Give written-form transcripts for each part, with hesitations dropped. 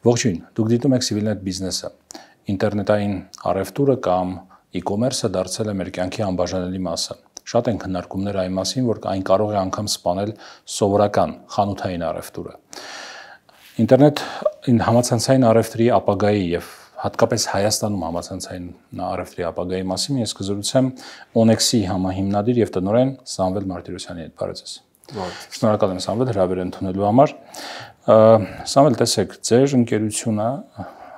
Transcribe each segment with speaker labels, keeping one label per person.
Speaker 1: Ողջույն, դուք դիտում եք Civilnet Business-ը։ Ինտերնետային առևտուրը կամ e-commerce-ը դարձել է մեր կյանքի անբաժանելի մասը։ Շատ են քննարկումներ այն մասին, որ այն կարող է անգամ սպանել սովորական խանութային առևտուրը։ Ինտերնետային համացանցային առևտրի ապագայի եւ հատկապես Հայաստանում համացանցային առևտրի ապագայի մասին ես կզրուցեմ Onex-ի համահիմնադիր եւ տնօրեն Սամվել Մարտիրոսյանի հետ։ Բարև ձեզ։ Շնորհակալ եմ Սամվել հրավեր ընդունելու համար։ Սամվել, տեսեք, ձեր ընկերությունը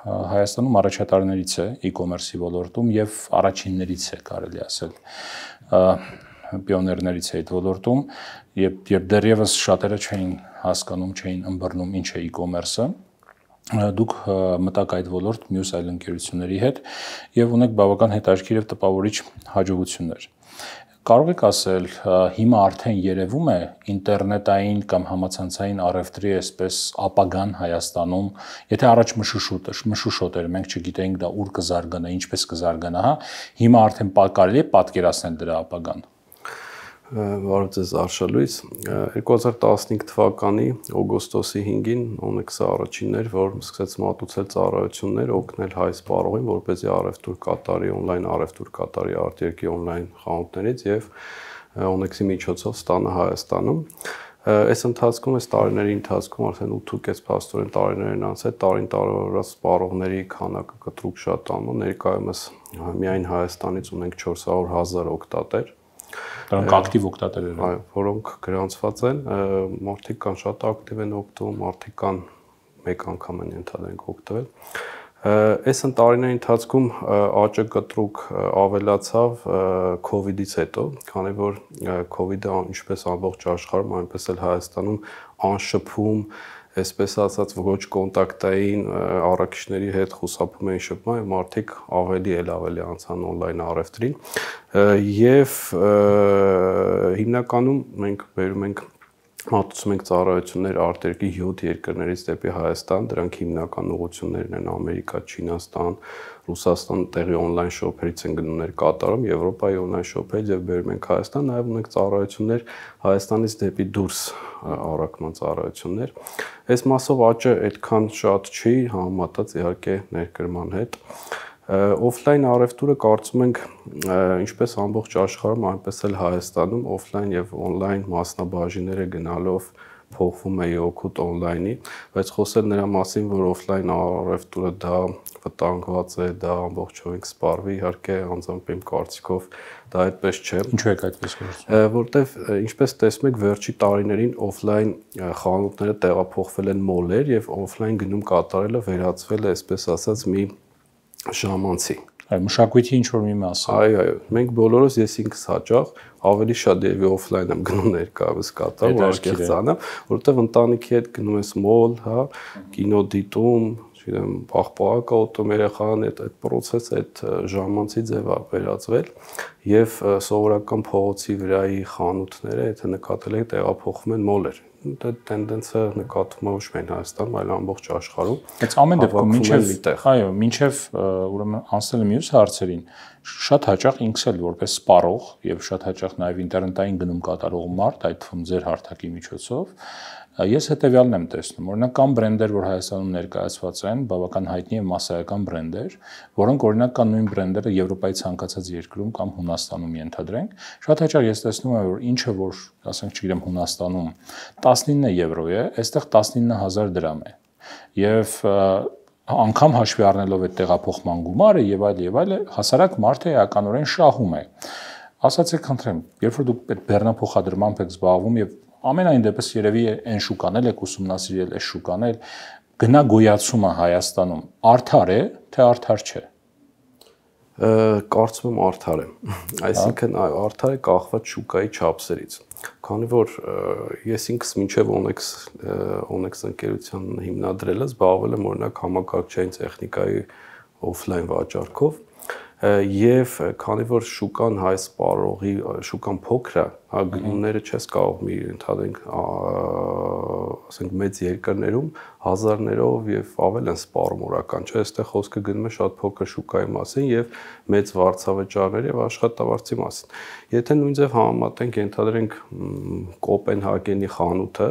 Speaker 1: Հայաստանում առաջատարներից է e-commerce-ի ոլորտում եւ առաջիններից է, կարելի ասել, պիոներներից է այդ ոլորտում, երբ դեռևս շատերը չէին հասկանում, չէին ըմբռնում ինչ է e-commerce-ը, դուք մտաք այդ ոլորտ մյուս այլ ընկերությունների հետ եւ ունեք բավական հետաքրքիր եւ տպավորիչ հաջողություններ։ Կարող եք ասել, հիմա արդեն երևում է ինտերնետային կամ համացանցային առևտրի այսպես ապագան Հայաստանում, եթե առաջ մշուշոտ էր, մենք չգիտեինք դա ուր կզարգանա, ինչպես կզարգանա, հիմա արդեն կարելի է պատկերացնել դրա ապագան։
Speaker 2: Բարև ձեզ Արշալույս, 2015 թվականի օգոստոսի 5-ին Onex-ը առաջինն էր, որ սկսեց մատուցել ծառայություններ, օգնել հայ սպառողին, որպեսզի առևտուր կատարի, օնլայն առևտուր կատարի արտերկրի օնլայն խանութներից եւ Onex-ի միջոցով ստանա Հայաստանում։ Այս ընթացքում, այս տարիների ընթացքում արդեն 8.5 փաստորեն տարիներ են անցել, տարին տարվա սպառողների քանակը կտրուկ շատանում, ներկայումս միայն Հայաստանից ունենք 400,000 օգտատեր։
Speaker 1: Դրանք ակտիվ օգտատերեր են։
Speaker 2: Այո, որոնք գրանցված են, մարդիկ կան շատ ակտիվ են օգտվում, մարդիկ կան մեկ անգամ են ընդհանրենք օգտվել։ Այս տարիների ընթացքում աճը կտրուկ ավելացավ COVID-ից հետո, քանի որ COVID-ը ինչպես ամբողջ աշխարհում, այնպես էլ Հայաստանում անշփում, այսպես ասած ոչ կոնտակտային առաքիչների հետ խուսափում էին շփման, մարդիկ ավելի անցան օնլայն առևտրին եւ հիմնականում մենք բերում ենք մատուցում ենք ծառայություններ արտերկրի 7 երկրներից դեպի Հայաստան, դրանք հիմնական ուղղություններն են Ամերիկա, Չինաստան, Ռուսաստան, տեղի օնլայն շոփերից են գնումներ կատարում, Եվրոպայի օնլայն շոփերից եւ բերում ենք Հայաստան, նաեւ ունենք ծառայություններ Հայաստանից դեպի դուրս առաքման ծառայություններ։ Այս մասով աճը այդքան շատ չի համեմատած իհարկե ներկրման հետ։ Օֆլայն առևտուրը կարծում ենք ինչպես ամբողջ աշխարհում, այնպես էլ Հայաստանում օֆլայն եւ օնլայն մասնաբաժինները գնալով փոխվում է օգուտ օնլայնի, բայց խոսել նրա մասին, որ օֆլայն առևտուրը դա վտանգված է, դա ամբողջովին կսպառվի, իհարկե անձամբ իմ կարծիքով դա այդպես չէ։
Speaker 1: Ինչու է այդպես գործում։
Speaker 2: Որտեվ ինչպես տեսնում եք, վերջի տարիներին օֆլայն խանութները տեղափոխվել են մոլեր եւ օֆլայն գնում կատարելը վերածվել է, այսպես ասած, մի ժամանցի։
Speaker 1: Այո, մշակույթի ինչ որ մի մասը։
Speaker 2: Այո, մենք բոլորս ես ինքս հաճախ ավելի շատ երևի օֆլայն եմ գնում ներկայումս կատարում, արկեղծանամ, որովհետև ընտանիքի հետ գնում ես մոլ, հա, կինո դիտում, չգիտեմ, պաղպաղակ օտում երեխան այդ process-ը այդ ժամանցի ձև է վերածվել եւ սովորական փողոցի վրայի խանութները, եթե նկատել եք, տեղափոխվում են մոլեր։ Դա տենդենսը նկատվում է ոչ միայն Հայաստանում, այլ ամբողջ աշխարհում։
Speaker 1: Բայց ամեն դեպքում մինչև ուրեմն անցնելը մյուս հարցերին շատ հաճախ ինքս էլ որպես սպառող եւ շատ հաճախ նաեւ ինտերնետային գնում կատարող մարդ, այդ թվում ձեր հարթակի միջոցով, ես հետեւյալն եմ տեսնում, օրինակ կան բրենդեր, որ Հայաստանում ներկայացված են, բավական հայտնի եւ մասսայական բրենդեր, որոնք օրինակ կան նույն բրենդերը Եվրոպայի ցանկացած երկրում կամ Հունաստանում ենթադրենք, շատ հաճախ ես տեսնում եմ, որ ինչը որ, ասենք, չգիտեմ, Հունաստանում 19 եվրո է, այստեղ 19,000 դրամ է։ Եվ անգամ հաշվի առնելով այդ տեղափոխման գումարը եւ այլ, հասարակ մարդը էականորեն շահում է։ Ասացեք, խնդրեմ, երբ որ դուք այդ բեռնափոխադրմամբ եք զբաղվում եւ ամենայն դեպս երևի այն շուկանել եք ուսումնասիրել, այս շուկանել, գնագոյացումը Հայաստանում արդար է, թե արդար չէ։
Speaker 2: Կարծում եմ արդար է։ Այսինքն արդար է կախված շուկայի չափսերից։ Քանի որ ես ինքս մինչև Onex ընկերության հիմնադրելը զբաղվել եմ օրինակ համակարգչային տեխնիկայի օֆլայն վաճառքով եւ քանի որ շուկան հայ սպառողի շուկան փոքր է գնումները չես կարող մի ընդհանրենք ասենք մեծ երկրներում հազարներով եւ ավել են սպառում օրական, չէ՞, այստեղ խոսքը գնում է շատ փոքր շուկայի մասին եւ մեծ վարձավճարների եւ աշխատավարձի մասին։ Եթե նույն ձև համեմատենք, ընդհանրենք Կոպենհագենի խանութը,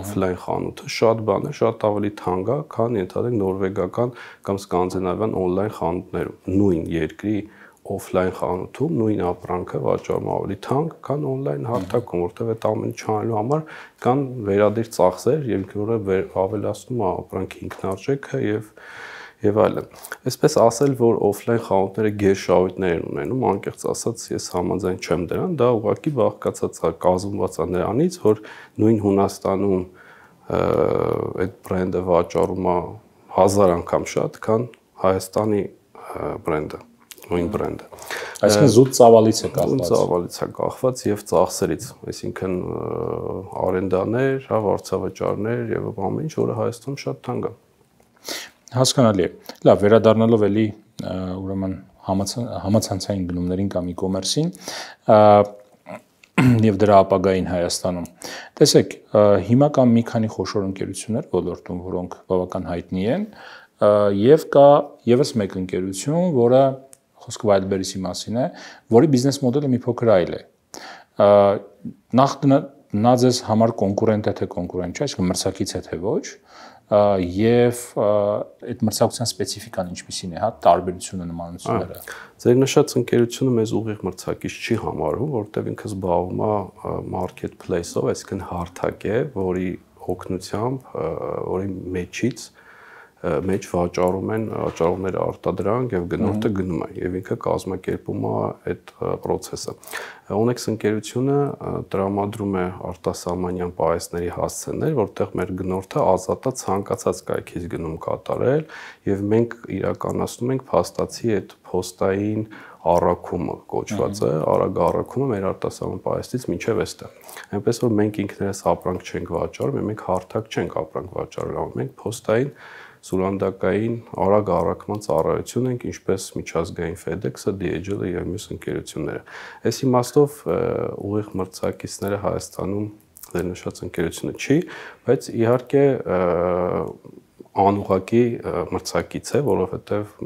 Speaker 2: օֆլայն խանութը, շատ բան է, շատ ավելի թանկ է, քան ընդհանրենք նորվեգական կամ սկանդինավյան օնլայն խանութներում։ Նույն երկրի օֆլայն խանութում նույն ապրանքը վաճառում ավելի թանկ, քան օնլայն հարթակում, որտեղ այդ ամենը չանելու համար կան վերադիր ծախսեր, որը ավելացնում է ապրանքի ինքնարժեքը եւ այլն։ Այսպես ասել, որ օֆլայն խանութները գերշահույթներ են ունենում, անկեղծ ասած, ես համաձայն չեմ դրան, դա ուղղակի բաղկացած է, կազմված է նրանից, որ նույն Հունաստանում այդ բրենդը վաճառում է 1000 անգամ շատ, քան Հայաստանի բրենդը։ Նույն բրենդը։
Speaker 1: Այսինքն զուտ ծավալից է կախված։
Speaker 2: Զուտ ծավալից է կախված եւ ծախսերից, այսինքն արենդաներ, հա, վարձավճարներ եւ ամեն ինչ, որը Հայաստանում շատ թանկ է։
Speaker 1: Հասկանալի է։ Լավ, վերադառնալով էլի ուրեմն համացանցային գնումներին կամ e-commerce-ին եւ դրա ապագային Հայաստանում։ Տեսեք, հիմա կան մի քանի խոշոր ընկերություններ ոլորտում, որոնք բավական հայտնի են, եւ կա եւս մեկ ընկերություն, որը խոսքը Wildberries-ի մասին է, որի բիզնես մոդելը մի փոքր այլ է։ Նախ նա ձեզ համար կոնկուրենտ է թե կոնկուրենտ չէ, այսինքն մրցակից է թե ոչ, եւ այդ մրցակցության սպეციფიკան ինչպիսին է, հա, տարբերությունը, նմանությունները։
Speaker 2: Ձեր նշած ընկերությունը մեզ ուղիղ մրցակից չի համարվում, որովհետեւ ինքը զբաղվում է marketplace-ով, այսինքն հարթակ է, որի օգնությամբ, որի մեջ վաճառում են վաճառողները արտադրանք եւ գնորդը գնում է եւ ինքը կազմակերպում է այդ process-ը։ Onex ընկերությունը տրամադրում է արտասահմանյան պահեստների հասցեներ, որտեղ մեր գնորդը ազատ է ցանկացած կայքից գնում կատարել եւ մենք իրականացնում ենք փաստացի այդ փոստային առաքումը կոչված է, արագ առաքումը մեր արտասահման պահեստից մինչև այստեղ։ Այնպես որ մենք ինքներս ապրանք չենք վաճառում, մենք հարթակ չենք ապրանք վաճառում, մենք փոստային սուրանդակային արագ առաքման ծառայություն ենք, ինչպես միջազգային FedEx-ը, DHL-ը եւ մյուս ընկերությունները։ Այս իմաստով ուղիղ մրցակիցները Հայաստանում դեր նշած ընկերությունը չի, բայց իհարկե անուղղակի մրցակից է, որովհետեւ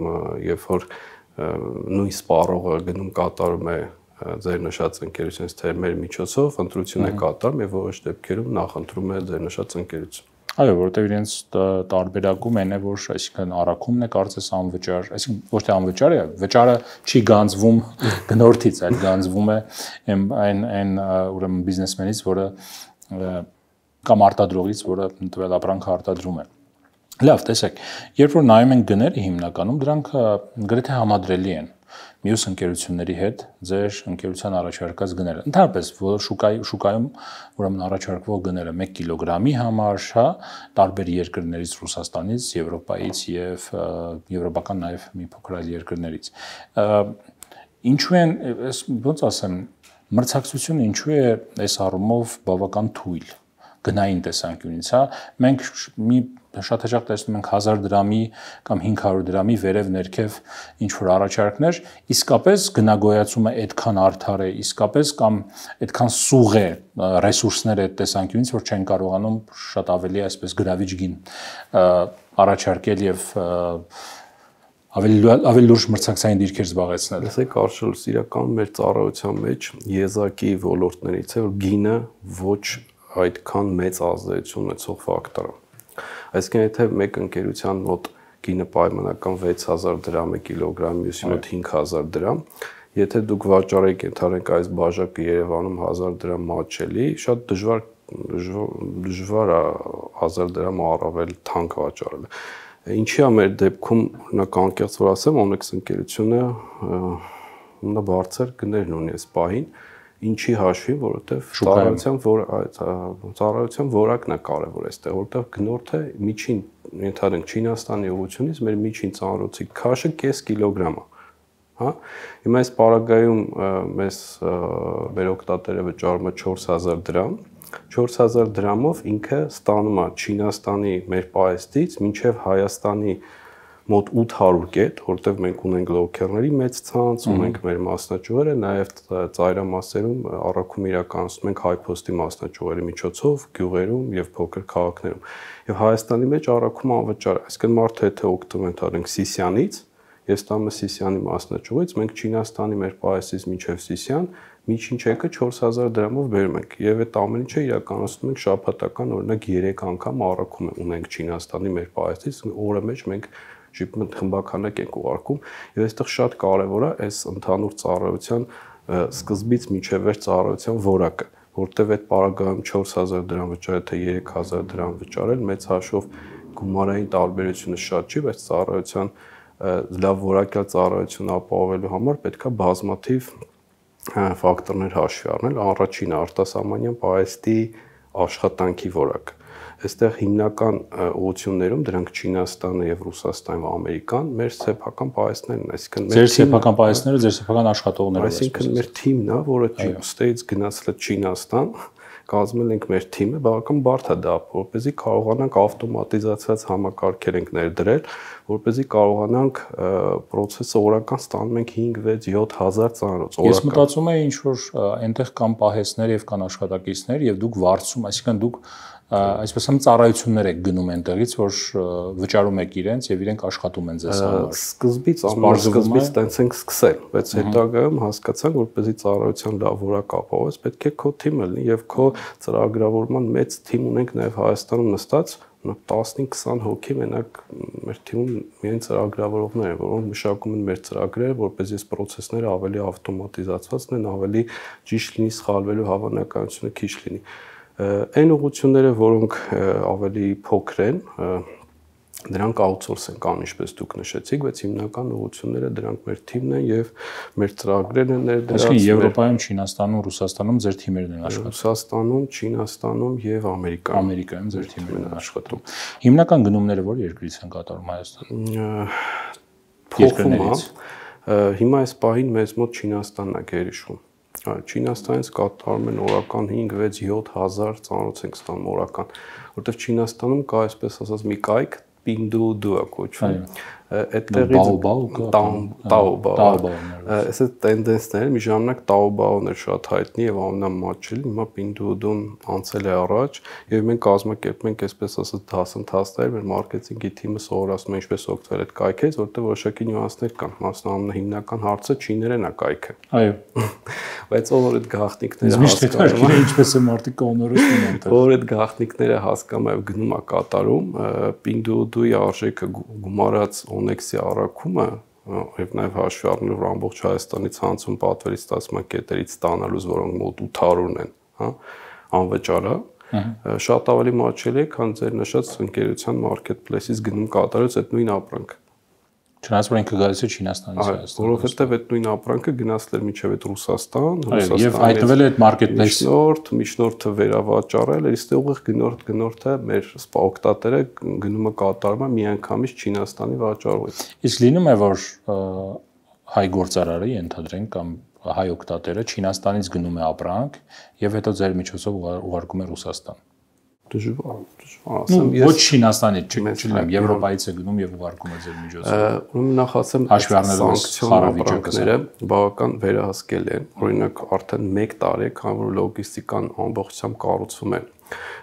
Speaker 2: երբ որ նույն սպառողը գնում կատարում է ձեր նշած ընկերությունից թե մեր միջոցով ընտրություն է կատարում եւ որոշ դեպքերում նախընտրում է ձեր նշած ընկերություն։
Speaker 1: Այո, որովհետև իրենց տարբերակում են է, որ այսինքն առաքումն է կարծես անվճար, այսինքն ոչ թե անվճար է, վճարը չի գանձվում գնորդից, այլ գանձվում է այն ուրեմն բիզնեսմենից, որը կամ արտադրողից, որը տվել ապրանքը արտադրում է։ Լավ, տեսեք, երբ որ նայում են գները հիմնականում, դրանք գրեթե համադրելի են մյուս ընկերությունների հետ ձեր ընկերության առաջարկած գները։ Ընդհանրապես շուկայում ուրեմն առաջարկվող գները 1 կիլոգրամի համար, հա, տարբեր երկրներից, Ռուսաստանից, Եվրոպայից եւ եվրոպական նաեւ մի փոքր այլ երկրներից։ Ինչու են, ոնց ասեմ, մրցակցությունը ինչու է այս առումով բավական թույլ գնային տեսանկյունից, հա, մենք շատ հաճախ տեսնում ենք 1000 դրամի կամ 500 դրամի վերև ներքև ինչ որ առաջարկներ, իսկապես գնագոյացումը այդքան արդար է, իսկապես կամ այդքան սուղ է ռեսուրսները այդ տեսանկյունից, որ չեն կարողանում շատ ավելի այսպես գրավիչ գին առաջարկել եւ ավելի լուրջ մրցակցային դիրքեր զբաղեցնել։
Speaker 2: Լսեք, Արշալուս, իրականում մեր ծառայության մեջ եզակի ոլորտներից է, որ գինը ոչ այդքան մեծ ազդեցություն ունեցող ֆակտոր է։ Այսինքն եթե մեկ ընկերության մոտ գինը պայմանական 6000 դրամ է կիլոգրամ, մյուսի մոտ 5000 դրամ, եթե դուք վաճառեք ընդհանրենք այս բաժակը Երևանում 1000 դրամ մատչելի, շատ դժվար է 1000 դրամ առավել թանկ վաճառել։ Ինչի է մեր դեպքում, օրինակ անկեղծ որ ասեմ, Onex ընկերությունը բարձր գներն ունի այս պահին, ինչի հաշվի, որովհետև ծառայության որակն է կարևոր այստեղ, որովհետև գնորդը միջին, ընդհանրենք Չինաստանի ուղղությունից մեր միջին ծանրոցի քաշը կես կիլոգրամ է, հա։ Հիմա այս պարագայում մեր օգտատերը վճարում է 4000 դրամ, 4000 դրամով ինքը ստանում է Չինաստանի մեր պահեստից մինչև Հայաստանի մոտ 800 կետ, որտեղ մենք ունենք լոքերների մեծ ցանց, ունենք մեր մասնաճյուղերը, նաև ծայրամասերում առաքում իրականացնում ենք հայփոստի մասնաճյուղերի միջոցով գյուղերում եւ փոքր քաղաքներում։ Եվ Հայաստանի մեջ առաքումը անվճար է, այսինքն մարդը եթե օգտվում են թարենք Սիսյանից, ես տամ Սիսյանի մասնաճյուղից, մենք Չինաստանի մեր պայեսից մինչև Սիսյան միջին չեկը 4000 դրամով բերում ենք եւ այդ ամեն ինչը իրականացնում ենք շաբաթական օրինակ 3 անգամ առաքում ունենք Չինաստանի մեր պայեսից օրը մեջ մենք շիպմենտ խմբականակ ենք ուղարկում եւ այստեղ շատ կարեւոր է այս ընդհանուր ծառայության սկզբից մինչև վերջ ծառայության որակը որտեւ այդ պարագայում 4000 դրամ վճարել թե 3000 դրամ վճարել մեծ հաշվով գումարային տարբերությունը շատ չի բայց ծառայության լավ որակյալ ծառայություն ապահովելու համար պետքա բազմաթիվ ֆակտորներ հաշվի առնել, առաջինը արտասահմանյան պայեստի աշխատանքի որակը։ Այստեղ հիմնական ուղղություններում դրանք Չինաստանը եւ Ռուսաստանն ու Ամերիկան մեր սեփական պայեստներն են, այսինքն
Speaker 1: մեր սեփական պայեստները, ձեր սեփական աշխատողները,
Speaker 2: այսինքն մեր թիմն է, որը ստեյց գնացել է Չինաստան, կազմել ենք մեր թիմը, բավական բարդ է դա, որպեսզի կարողանանք ավտոմատիզացված համակարգեր ենք ներդրել, որպեսզի կարողանանք process-ը օրական ստանում ենք 5-6-7000 ծանոց օրական։
Speaker 1: Ես մտածում եմ ինչ որ այնտեղ կան պահեսներ եւ կան աշխատակիցներ եւ դուք վարձում, այսինքն դուք այսպես ասեմ ծառայություններ եք գնում այնտեղից, որ վճարում եք իրենց եւ իրենք աշխատում են ձեզ համար։
Speaker 2: Սկզբից ամենասկզբից տենց ենք սկսել, բայց հետագայում հասկացանք, որպեսզի ծառայության լավ որակ ապահովես, պետք է քո թիմը լինի եւ քո ծրագրավորման մեծ թիմ ունենք նաեւ Հայաստանում նստած 15-20 հոգի մենակ մեր թիմում միայն ծրագրավորողներ են, որոնք մշակում են մեր ծրագրերը, որպեսզի այս process-ները ավելի ավտոմատիզացված լինեն, ավելի ճիշտ լինի, սխալվելու հավանականությունը քիչ լինի։ Այն ուղղությունները, որոնք ավելի փոքր են, դրանք outsource են կան, ինչպես դուք նշեցիք, բայց հիմնական ուղղությունները դրանք մեր թիմն են եւ մեր ծրագրերն են ներդրած։
Speaker 1: Այսինքն Եվրոպայում, Չինաստանում, Ռուսաստանում ձեր թիմերն են աշխատում։
Speaker 2: Ռուսաստանում, Չինաստանում եւ Ամերիկայում։
Speaker 1: Ամերիկայում ձեր թիմերն են աշխատում։ Հիմնական գնումները որ երկրից են կատարում Հայաստանում։
Speaker 2: Փոխվում է։ Հիմա այս պահին մեզ մոտ Չինաստանն է գերիշխում։ Չինաստանից կատարում են օրական 5-6-7000 ծանոց ենք ստանում օրական, որտեղ Չինաստանում կա այսպես ասած մի կայք Pinduoduo է կոչվում։ Այդտեղից Taobao։ Այս տենդենսները մի ժամանակ Taobao-ն էր շատ հայտնի եւ ամենամատչելի, հիմա Pinduoduo-ն անցել է առաջ եւ մենք կազմակերպում ենք այսպես ասած դասընթացներ, մեր մարքեթինգի թիմը սովորացնում է ինչպես օգտվել այդ կայքից, որտեղ որոշակի նյուանսներ կան, մասնավորապես հիմնական հարցը չիներեն է կայքը։
Speaker 1: Այո։
Speaker 2: Բայց ով այդ գաղտնիքները
Speaker 1: հասկանում է, ինչպես է մարդիկ կողմնորոշվում են դա։
Speaker 2: Ով այդ գաղտնիքները հասկանում է, գնում է կատարում, Pinduoduo-ի արժեքը գումարած Onyx-ի առաքումը եւ նաեւ հաշվի առնելով ամբողջ Հայաստանի ցանցում պատվերի ստացման կետերից ստանալուց, որոնք մոտ 800 են, հա, անվճար է, շատ ավելի մատչելի է, քան ձեր նշած ընկերության marketplace-ից գնում կատարած այդ նույն ապրանքը։
Speaker 1: Չնայած որ ինքը գալիս է Չինաստանից Հայաստան։
Speaker 2: Որովհետև այդ նույն ապրանքը գնացել էր մինչև այդ Ռուսաստան,
Speaker 1: եւ հայտնվել է այդ marketplace
Speaker 2: միջնորդը վերավաճառել, իսկ ուղիղ գնորդը մեր օգտատերը գնումը կատարում է միանգամից Չինաստանի վաճառողից։
Speaker 1: Իսկ լինում է որ հայ գործարարը ենթադրենք կամ հայ օգտատերը Չինաստանից գնում է ապրանք եւ հետո ձեր միջոցով ուղարկում է Ռուսաստան։
Speaker 2: Դժվար,
Speaker 1: ասեմ, ոչ Չինաստանից, չգիտեմ, Եվրոպայից է գնում եւ ուղարկում է ձեր միջոցով։
Speaker 2: Ուրեմն նախ ասեմ, սանկցիոները բավական վերահսկել են։ Օրինակ, արդեն 1 տարի է, քան որ լոգիստիկան ամբողջությամբ կառուցվում է։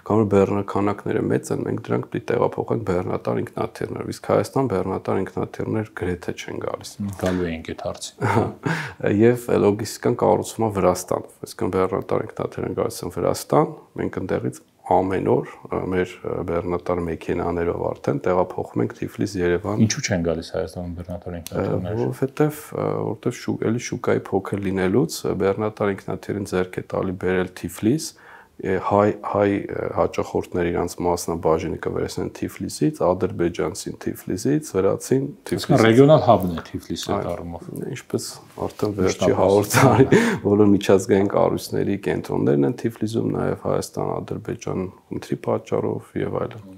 Speaker 2: Կամ որ բեռնականակները մեծ են, մենք դրանք պիտի տեղափոխենք բեռնատար ինքնաթիռներով, իսկ Հայաստան բեռնատար ինքնաթիռներ գրեթե չեն գալիս։
Speaker 1: Գալու ենք այդ հարցին։
Speaker 2: Եվ լոգիստիկան կառուցվում է Վրաստանով, այսինքն բեռնատար ինքնաթիռները գալիս են Վրաստան, մենք այնտեղից ամեն օր մեր բեռնատար մեքենաներով արդեն տեղափոխում ենք Թիֆլիս, Երևան։
Speaker 1: Ինչու չեն գալիս Հայաստանում բեռնատար ինքնաթիռներ։
Speaker 2: Որովհետև էլի շուկայի փոքր լինելուց բեռնատար ինքնաթիռին ձեռք է տալի բերել Թիֆլիս, հայ հաճախորդներ իրանց մասնաբաժինը կվերցնեն Թիֆլիսից, ադրբեջանցին Թիֆլիսից, վրացին
Speaker 1: Թիֆլիսից։ Ռեգիոնալ հաբն է Թիֆլիսը այդ առումով։
Speaker 2: Ինչպես արդեն վերջի 100 տարի բոլոր միջազգային կառույցների կենտրոններն են Թիֆլիսում, նաև Հայաստան, Ադրբեջան, ընտրի պատճառով եւ այլն։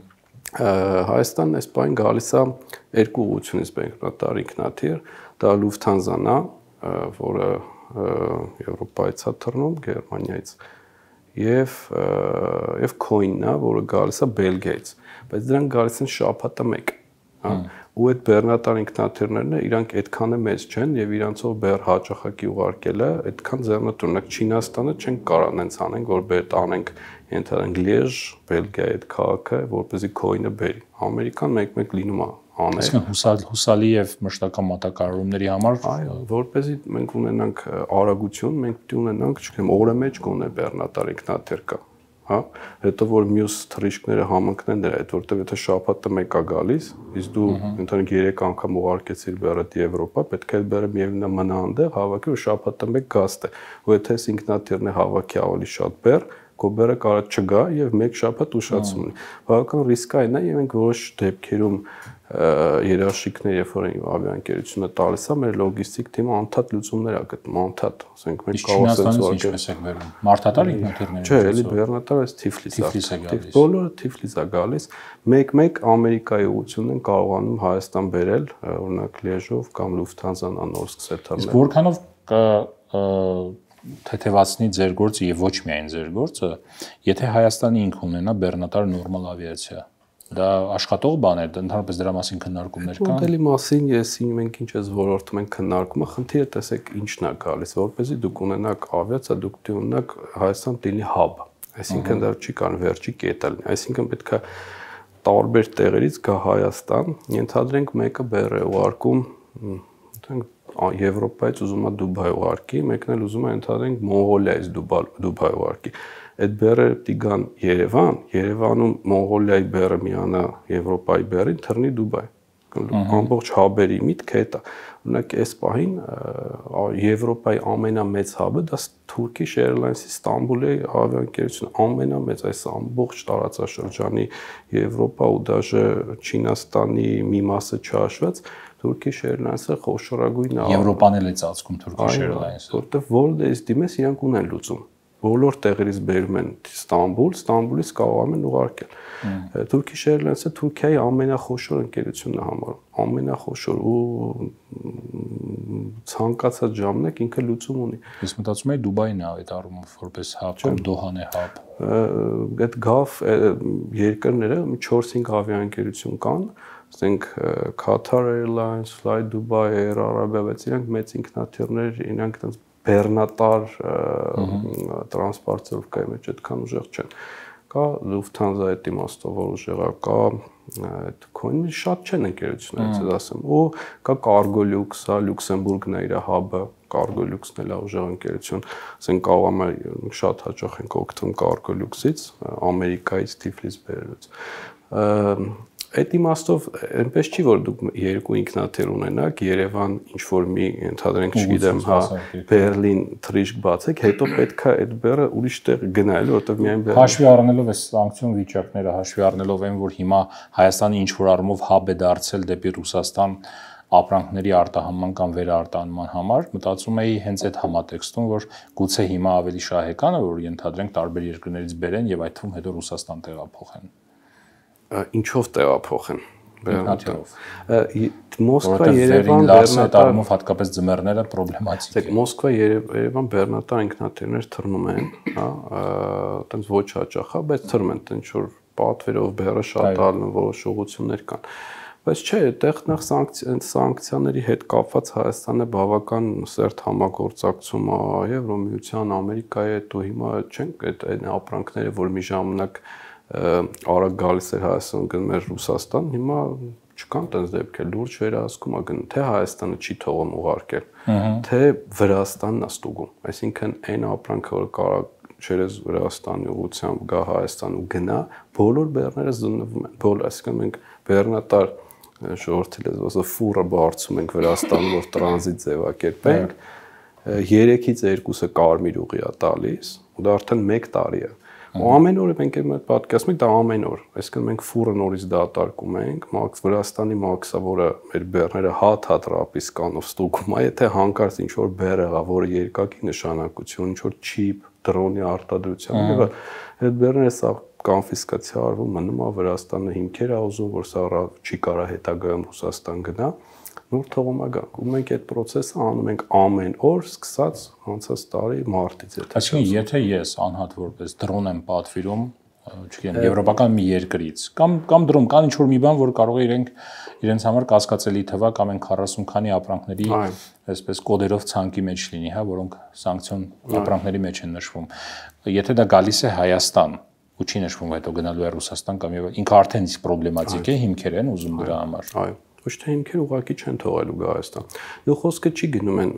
Speaker 2: Հայաստանն այս բան գալիս է երկու ուղղությունից բեռնատար ինքնաթիռ, դա Lufthansa-ն է, որը Եվրոպայից է թռնում, Գերմանիայից եւ Coin-ն է, որը գալիս է Բելգիայից, բայց դրանք գալիս են շաբաթը 1, հա, ու այդ բեռնատար ինքնաթիռներն իրանք այդքան է մեծ չեն եւ իրանցով բեռ հաճախակի ուղարկելը այդքան ձեռնտուրնակ Չինաստանը չեն կարող այնց անենք, որ բեր տանենք ենթադրենք Լիեժ, Բելգիայի այդ քաղաքը, որպեսզի քոինը բերի։ Ամերիկան մեկ-մեկ լինում է անել։
Speaker 1: Այսինքն հուսալի եւ մշտական մատակարարումների համար,
Speaker 2: այո, որպեսզի մենք ունենանք արագություն, մենք պետք է ունենանք, չգիտեմ, օրը մեջ գոնե բեռնատար ինքնաթիռ կա, հա, հետո որ մյուս թռիչքները համընկնեն դրա հետ, որտեղ եթե շաբաթը մեկա գալիս, իսկ դու ընդհանրապես 3 անգամ ուղարկեցիր բեռդ Եվրոպա, պետք է այդ բեռը միևնույն մնա այնտեղ, հավաքի ու շաբաթը մեկ գաստ է, ու եթե ինքնաթիռն է հավաքի ավելի շատ բեռ, կոբերը կարող չգա եւ մեկ շաբաթ ուշացում ունի։ Բավական ռիսկային է եւ մենք որոշ դեպքերում երաշխիքներ, երբ որ ավիաընկերությունը տալիս է, մեր լոգիստիկ թիմը անդադ լուծումներ է գտնում, անդադ, ասենք մենք կարող ենք
Speaker 1: ինչպես եք վերում։ Մարդատար ինքնաթիռներ։
Speaker 2: Չէ, էլի բեռնատար այս Թիֆլիս է։ Բոլորը Թիֆլիս է գալիս։ Մեկ-մեկ Ամերիկայի ուղղությունն են կարողանում Հայաստան բերել, օրինակ Լիեժով կամ Լուֆթանզան անոր սկսել թռնել։
Speaker 1: Իսկ որքանով թեթևացնի ձեր գործը եւ ոչ միայն ձեր գործը, եթե Հայաստանի ինքը ունենա բեռնատար նորմալ ավիացիա, դա աշխատող բան է, ընդհանրապես դրա մասին քննարկումներ կան։
Speaker 2: Մոդելի մասին մենք ինչ էս ոլորտում ենք քննարկում, խնդիրը տեսեք ինչն է գալիս, որպեսզի դուք ունենաք ավիացիա, դուք պետք է ունենաք Հայաստան լինի հաբ, այսինքն դա չի կան վերջի կետը լինի, այսինքն պետք է տարբեր տեղերից գա Հայաստան, ենթադրենք մեկը բեռ է ուղարկում, Եվրոպայից ուզում է Դուբայ ուղարկի, մեկն էլ ուզում է ընդհանրենք Մոնղոլիայից Դուբայ ուղարկի։ Այդ բեռը պետք է գան Երևան, Երևանում Մոնղոլիայի բեռը միանա Եվրոպայի բեռին, թռնի Դուբայ։ Ամբողջ հաբերի միտքը դա է։ Օրինակ այս պահին Եվրոպայի ամենամեծ հաբը դա Turkish Airlines-ի Ստամբուլի ավիաընկերությունը, ամենամեծ այս ամբողջ տարածաշրջանի Եվրոպա ու դաժե Չինաստանի մի մասը չհաշված Turkish Airlines-ը խոշորագույն է։
Speaker 1: Եվրոպան էլ է ծածկում Turkish Airlines-ը։
Speaker 2: Որտեվ որտեղից դիմես իրանք ունեն լուծում։ Բոլոր տեղերից բերում են Ստամբուլ, Ստամբուլից կարողանում են ուղարկել։ Turkish Airlines-ը Թուրքիայի ամենախոշոր ընկերությունն է համարում, ամենախոշոր ու ցանկացած ժամանակ ինքը լուծում ունի։
Speaker 1: Ես մտածում եմ Դուբայն է այդ առումով որպես հաբ կամ Դոհան է հաբ։
Speaker 2: Այդ գավ երկրները 4-5 ավիաընկերություն կան, ասենք Qatar Airlines, Fly Dubai, Air Arabia, բայց իրանք մեծ ինքնաթիռներ, իրանք այդպես բեռնատար տրանսպորտировկայի մեջ այդքան ուժեղ չեն։ Կա Lufthansa այդ իմաստով որ ուժեղ է, կա այդ քոինի շատ չեն ընկերություններից, ես ասեմ, ու կա Cargolux, Լյուքսեմբուրգն է իր հաբը, Cargolux-ն էլ է ուժեղ ընկերություն, ասենք կարողam է շատ հաճախ ենք օգտվում Cargolux-ից, Ամերիկայից Թիֆլիս բերելուց։ Այդ իմաստով այնպես չի որ դուք երկու ինքնաթիռ ունենաք, Երևան ինչ որ մի ընդհանրենք չգիտեմ, հա, Բերլին թռիչք բացեք, հետո պետքա այդ բեռը ուրիշ տեղ գնալ, որովհետև միայն բեռը
Speaker 1: հաշվի առնելով այս սանկցիոն վիճակները, հաշվի առնելով այն որ հիմա Հայաստանի ինչ որ առումով հաբ է դարձել դեպի Ռուսաստան ապրանքների արտահանման կամ վերարտահանման համար, մտածում էի հենց այդ համատեքստում, որ գուցե հիմա ավելի շահեկան է, որ ենթադրենք տարբեր երկրներից բերեն եւ այդ թվում հետո Ռուսաստան տեղափոխեն։
Speaker 2: Ինչով տեղափոխեն
Speaker 1: բեռնատիրով։
Speaker 2: Մոսկվա, Երևան,
Speaker 1: բեռնատար հատկապես ձմեռները պրոբլեմատիկ է։
Speaker 2: Մոսկվա, Երևան բեռնատար ինքնաթիռներ թռնում են, հա, այտենց ոչ հաճախ, հա, բայց թռնում են, տենց որ պատվերով բեռը շատ ալնում, որոշ ուղղություններ կան։ Բայց չէ, այդտեղ նախ սանկցիաների հետ կապված Հայաստանը բավական սերտ համագործակցում է Եվրոմիության, Ամերիկայի հետ, ու հիմա չենք այդ ապրանքները, որ մի ժամանակ արագ գալիս էր Հայաստան գնում էր Ռուսաստան, հիմա չկան տենց դեպքեր, լուրջ վերահսկում է գնում, թե Հայաստանը չի թողում ուղարկել, թե Վրաստանն է ստուգում, այսինքն այն ապրանքը, որ կարող չերես Վրաստանի ուղղությամբ գա Հայաստան ու գնա, բոլոր բեռները զննվում են, բոլոր, այսինքն մենք բեռնատար ժողովրդի լեզվով ֆուրը բարձում ենք Վրաստանում, որ տրանզիտ ձևակերպենք, 3-ից 2-ը կարմիր ուղի է տալիս, ու դա արդեն 1 տարի է։ Ու ամեն օր մենք պատկերացնում ենք դա ամեն օր, այսինքն մենք ֆուրը նորից դատարկում ենք, Վրաստանի մաքսա, որը մեր բեռները հատ ռապիս կանով ստուգում է, եթե հանկարծ ինչ որ բեռ եղա, որը երկակի նշանակություն, ինչ որ չիպ, դրոնի արտադրության, եւ այդ բեռները սա կոնֆիսկացիա արվում, մնում է Վրաստանը հիմքեր է ուզում, որ սա չի կարա հետագայում Ռուսաստան գնա, նոր թողում է գանք։ Ու մենք այդ process-ը անում ենք ամեն օր, սկսած անցած տարի մարտից։
Speaker 1: Այսինքն, եթե ես անհատ որպես դրոն եմ պատվիրում չգիտեմ, եվրոպական մի երկրից, կամ դրում կան ինչ-որ մի բան, որ կարող է իրենց համար կասկածելի թվա կամ այն 40 քանի ապրանքների այսպես կոդերով ցանկի մեջ լինի, հա, որոնք սանկցիոն ապրանքների մեջ են նշվում։ Եթե դա գալիս է Հայաստան ու չի նշվում, հետո գնալու է Ռուսաստան կամ ինքը արդեն իսկ պրոբլեմատիկ է, հիմքեր են ուզում դրա համար։
Speaker 2: Այո, ոչ թե հիմքեր ուղղակի չեն թողելու գա Հայաստան։ Դու խոսքը չի գնում են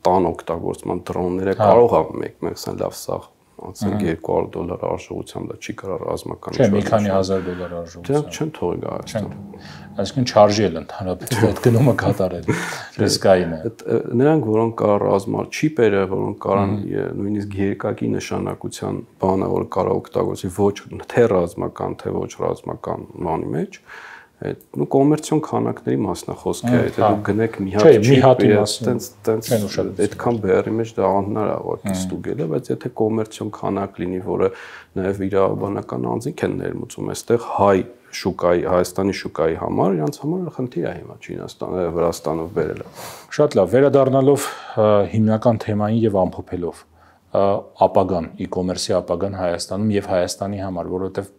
Speaker 2: տան օգտագործման դրոնները կարող է մեկ-մեկ լավ սաղ անցնի $200 արժողությամբ, դա չի կարող ռազմական
Speaker 1: չէ, մի քանի $1000 արժողությամբ։
Speaker 2: Դրանք չեն թողի գա Հայաստան։
Speaker 1: Այսինքն չարժի էլ ընդհանրապես այդ գնումը կատարել ռիսկային է։
Speaker 2: Նրանք, որոնք կա ռազմար չիպերը, որոնք կարան նույնիսկ երկակի նշանակության բանը, որ կարող օգտագործի ոչ թե ռազմական, թե ոչ ռազմական բանի մեջ, նու կոմերցիոն քանակների մասն է խոսքը, եթե դու գնեք մի հատ այդքան բերի մեջ դա անհնար է ստուգելը, բայց եթե կոմերցիոն քանակ լինի, որը նաև իրավաբանական անձինք են ներմուծում, այստեղ հայ շուկայի, Հայաստանի շուկայի համար, իրանց համար խնդիր է հիմա Չինաստանը, Վրաստանով բերելը։
Speaker 1: Շատ լավ, վերադառնալով հիմնական թեմային եւ ամփոփելով ապագան, e-commerce-ի ապագան Հայաստանում եւ Հայաստանի համար, որովհետեւ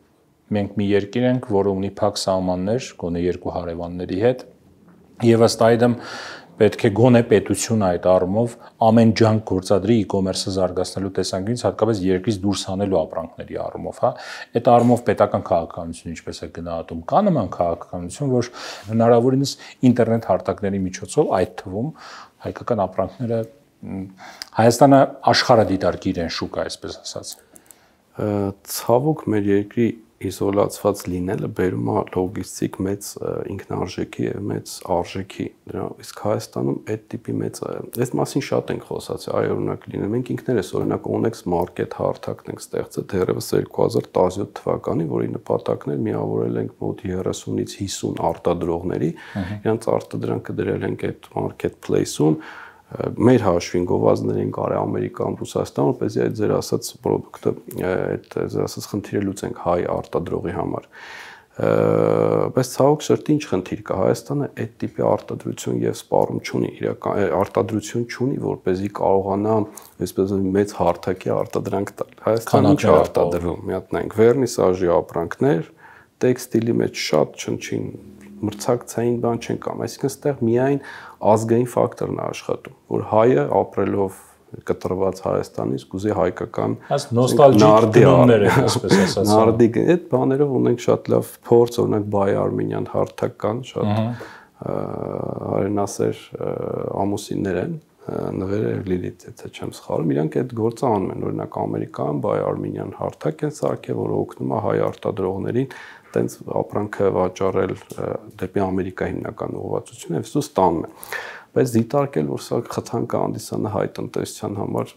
Speaker 1: մենք մի երկիր ենք, որը ունի փակ սահմաններ, գոնե երկու հարևանների հետ, եւ ըստ այդմ պետք է գոնե պետությունը այդ առումով ամեն ջանք գործադրի e-commerce-ը զարգացնելու տեսանկյունից, հատկապես երկրից դուրս հանելու ապրանքների առումով, հա։ Այդ առումով պետական քաղաքականությունը ինչպես է գնահատում, կա նման քաղաքականություն, որ հնարավորինս ինտերնետ հարթակների միջոցով, այդ թվում հայկական ապրանքները Հայաստանը աշխարհը դիտարկի իրեն շուկա, այսպես ասած։
Speaker 2: Ցավոք մեր երկրի իզոլացված լինելը բերում է լոգիստիկ մեծ ինքնարժեքի եւ մեծ արժեքի դրա իսկ Հայաստանում այդ տիպի մեծ այս մասին շատ ենք խոսացի այ օրինակ լինել մենք ինքներս օրինակ Onex Market հարթակն ենք ստեղծել դեռևս 2017 թվականին որի նպատակն էր միավորել ենք մոտ 30-ից 50 արտադրողների իրանց արտադրանքը դրել ենք այդ marketplace-ում մեր հաշվին գովազդներին կարի Ամերիկան, Ռուսաստան, որպեսզի այդ ձեր ասած product-ը, այդ ձեր ասած խնդիրը լուծենք հայ արտադրողի համար։ Բայց ցավոք սրտի ինչ խնդիր կա Հայաստանը այդ տիպի արտադրություն եւ սպառում չունի, իրական արտադրություն չունի, որպեսզի կարողանա այսպես մեծ հարթակի արտադրանք տալ։ Հայաստանը ինչ արտադրում, մի հատ նայենք վերնիսաժի ապրանքներ, տեքստիլի մեջ շատ չնչին մրցակցային բան չեն կամ, այսինքն այստեղ միայն ազգային ֆակտորն է աշխատում, որ հայը ապրելով կտրված Հայաստանից կուզի հայկական
Speaker 1: նոստալջիկ դնումներ են, այսպես ասած։
Speaker 2: Նարդիկ, այդ բաներով ունենք շատ լավ փորձ, օրինակ Բայ Արմենիան հարթակ կան, շատ հայրենասեր ամուսիններ են, նվերը Լիլիթ, եթե չեմ սխալվում, իրանք այդ գործը անում են, օրինակ Ամերիկան Բայ Արմենիան հարթակ են սարքել, որը օգնում է հայ արտադրողներին տենց ապրանքը վաճառել դեպի Ամերիկա հիմնական ուղղվածությունը եւ սու ստանում է։ Բայց դիտարկել, որ սա խթանք հանդիսանա հայ տնտեսության համար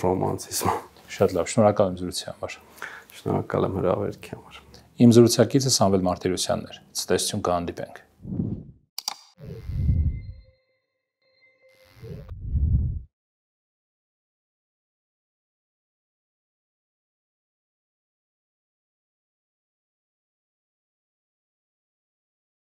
Speaker 2: ռոմանտիզմ։
Speaker 1: Շատ լավ, շնորհակալ եմ զրույցի համար։
Speaker 2: Շնորհակալ եմ հրավերքի համար։
Speaker 1: Իմ զրուցակիցը Սամվել Մարտիրոսյանն էր։ Ցտեսություն կհանդիպենք։